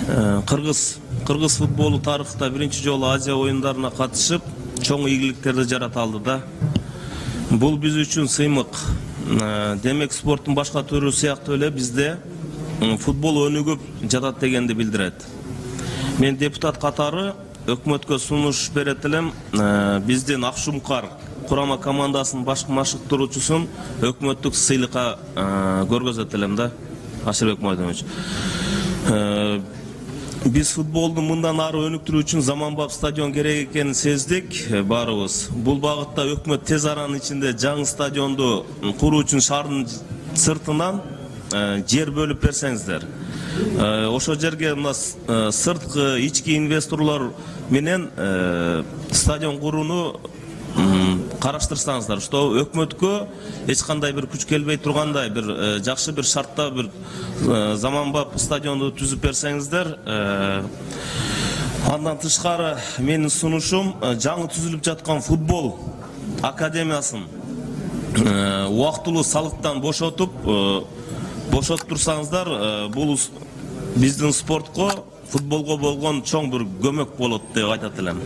Кыргыз футболу тарыхта биринчи жолу Азия оюндарына катышып, чоң ийгиликтерди жарата алды да. Бул биз үчүн сыймык. Демек спорттун башка түрү сыяктуу эле бизде футбол өнүгүп жатат дегенди билдирет. Мен депутат катары өкмөткө сунуш берет элем. Биздин Акшумкар курама командасынын баш машыктыруучусун өкмөттүк сыйлыкка көргөзөт элем да, Ашырбек Майданович. Биз футболду мындан ары өнүктүрүү үчүн заманбап стадион керек экенин сездик баарыбыз. Бул багытта өкмөт тез аранын ичинде жаңы стадионду куруу үчүн шаардын сыртынан жер бөлүп берсеңиздер. Ошол жерге мына сырткы ички инвесторлор менен стадион курууну караштырсаңыздар, что өкмөткө эч кандай бир күч келбей тургандай бир жакшы бир шартта бир заманбап стадионду түзүп берсеңиздер. Андан тышкары менин сунушум жаңы түзүлүп жаткан футбол академиясын убактылуу салыктан бошотуп турсаңыздар, бул биздин спортко, футболго болгон чоң бир көмөк болот деп айтат элем.